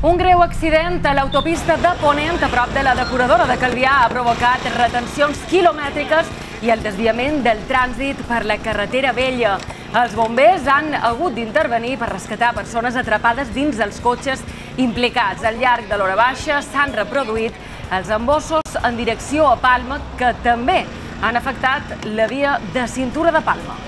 Un greu accident a l'autopista de Ponent, a prop de la depuradora de Calvià, ha provocat retencions quilomètriques i el desviament del trànsit per la carretera vella. Els bombers han hagut d'intervenir per rescatar persones atrapades dins dels cotxes implicats. Al llarg de l'hora baixa s'han reproduït els embossos en direcció a Palma, que també han afectat la via de cintura de Palma.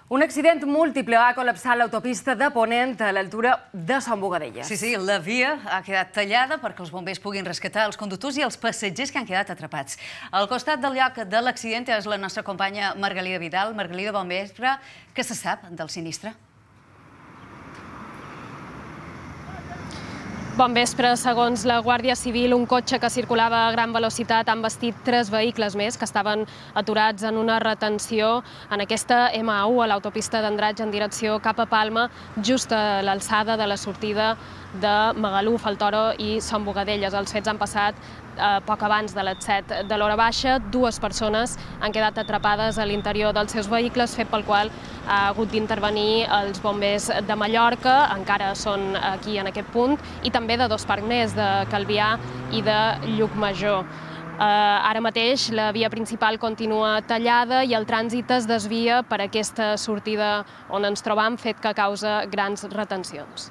Un accident múltiple ha col·lapsat l'autopista de Ponent a l'altura de Sant Bogadelles. Sí, la via ha quedat tallada perquè els bombers puguin rescatar els conductors i els passatgers que han quedat atrapats. Al costat del lloc de l'accident és la nostra companya Margalida Vidal. Margalida, bon vespre. Què se sap del sinistre? Bon vespre. Segons la Guàrdia Civil, un cotxe que circulava a gran velocitat ha embestit 3 vehicles més que estaven aturats en una retenció en aquesta M1 a l'autopista d'Andratx en direcció cap a Palma, just a l'alçada de la sortida de Magaluf, el Toro i Sant Bogadelles. Els fets han passat poc abans de les 7 de l'hora baixa. 2 persones han quedat atrapades a l'interior dels seus vehicles, fet pel qual ha hagut d'intervenir els bombers de Mallorca, encara són aquí en aquest punt, i també de 2 parcs més, de Calvià i de Llucmajor. Ara mateix la via principal continua tallada i el trànsit es desvia per aquesta sortida on ens trobam, fet que causa grans retencions.